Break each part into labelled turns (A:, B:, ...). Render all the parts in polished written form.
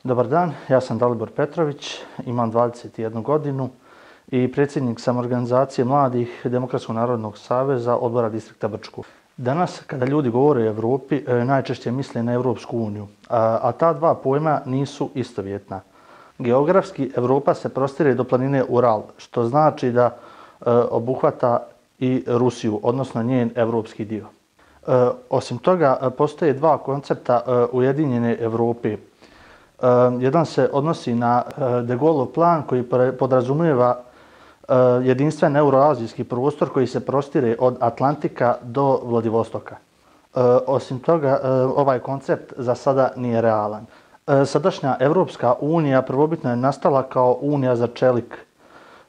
A: Dobar dan, ja sam Dalibor Petrović, imam 21 godinu i predsjednik sam organizacije mladih Demokratskog narodnog saveza odbora distrikta Brčko. Danas, kada ljudi govore o Evropi, najčešće misle na Evropsku uniju, a ta dva pojma nisu istovjetna. Geografski, Evropa se prostire do planine Ural, što znači da obuhvata i Rusiju, odnosno njen evropski dio. Osim toga, postoje dva koncepta ujedinjene Evrope. Jedan se odnosi na De Gaulleov plan koji podrazumijeva jedinstven euroazijski prostor koji se prostire od Atlantika do Vladivostoka. Osim toga, ovaj koncept za sada nije realan. Sadašnja Evropska unija prvobitno je nastala kao unija za čelik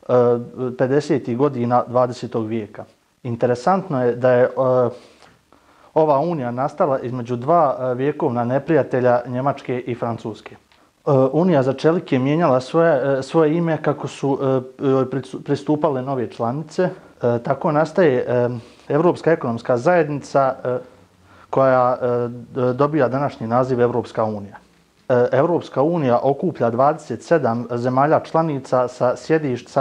A: 50. godina 20. vijeka. Interesantno je da je ova unija nastala između dva vjekovna neprijatelja Njemačke i Francuske. Unija za čelik je mijenjala svoje ime kako su pristupale nove članice. Tako nastaje Evropska ekonomska zajednica koja dobija današnji naziv Evropska unija. Evropska unija okuplja 27 zemalja članica sa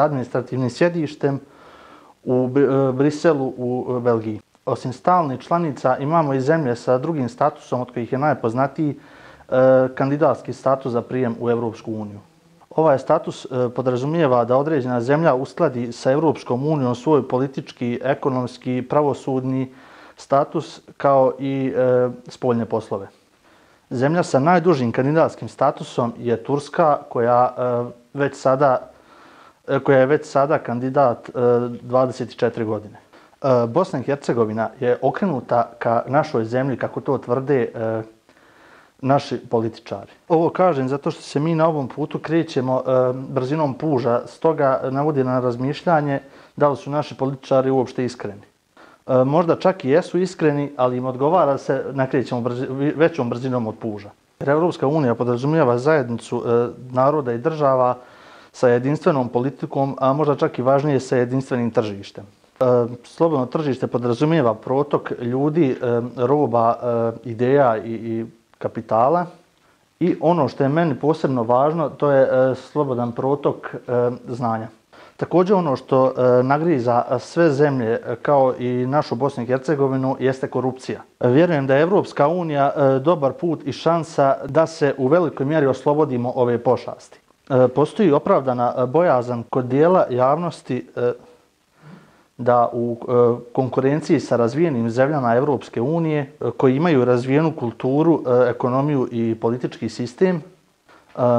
A: administrativnim sjedištem u Briselu u Belgiji. Osim stalnih članica imamo i zemlje sa drugim statusom od kojih je najpoznatiji kandidatski status za prijem u Evropsku uniju. Ovaj status podrazumijeva da određena zemlja uskladi sa Evropskom unijom svoj politički, ekonomski, pravosudni status kao i spoljne poslove. Zemlja sa najdužim kandidatskim statusom je Turska koja je već sada kandidat 24 godine. Bosna i Hercegovina je okrenuta ka našoj zemlji, kako to tvrde naši političari. Ovo kažem zato što se mi na ovom putu krećemo brzinom puža, stoga navodi na razmišljanje da li su naši političari uopšte iskreni. Možda čak i jesu iskreni, ali im odgovara se nakrećemo većom brzinom od puža. Evropska unija podrazumijeva zajednicu naroda i država sa jedinstvenom politikom, a možda čak i važnije sa jedinstvenim tržištem. Slobodno tržište podrazumijeva protok ljudi, roba, ideja i kapitala. I ono što je meni posebno važno, to je slobodan protok znanja. Također ono što nagriza sve zemlje, kao i našu Bosnu i Hercegovinu, jeste korupcija. Vjerujem da je Evropska unija dobar put i šansa da se u velikoj mjeri oslobodimo ove pošasti. Postoji opravdana bojazan kod dijela javnosti da u konkurenciji sa razvijenim zemljama Evropske unije, koji imaju razvijenu kulturu, ekonomiju i politički sistem,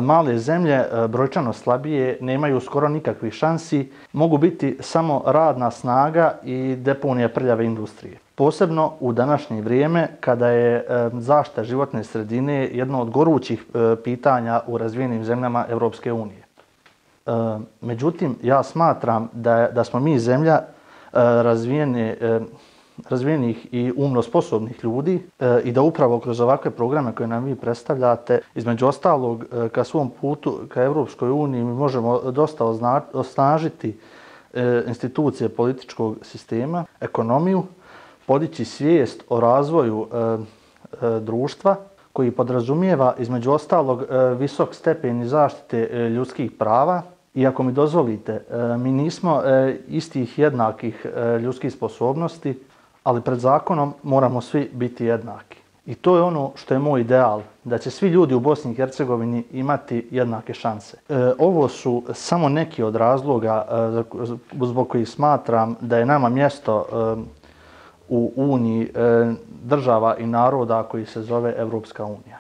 A: male zemlje, brojčano slabije, nemaju skoro nikakvih šansi, mogu biti samo radna snaga i deponija prljave industrije. Posebno u današnje vrijeme, kada je zaštita životne sredine jedno od gorućih pitanja u razvijenim zemljama Evropske unije. Međutim, ja smatram da smo mi zemlja razvijenih i umno sposobnih ljudi i da upravo kroz ovakve programe koje nam vi predstavljate, između ostalog, ka svom putu ka Evropskoj uniji mi možemo dosta osnažiti institucije političkog sistema, ekonomiju, podići svijest o razvoju društva koji podrazumijeva, između ostalog, visok stepen zaštite ljudskih prava. I ako mi dozvolite, mi nismo istih jednakih ljudskih sposobnosti, ali pred zakonom moramo svi biti jednaki. I to je ono što je moj ideal, da će svi ljudi u Bosni i Hercegovini imati jednake šanse. Ovo su samo neki od razloga zbog kojih smatram da je nama mjesto u Uniji država i naroda koji se zove Evropska unija.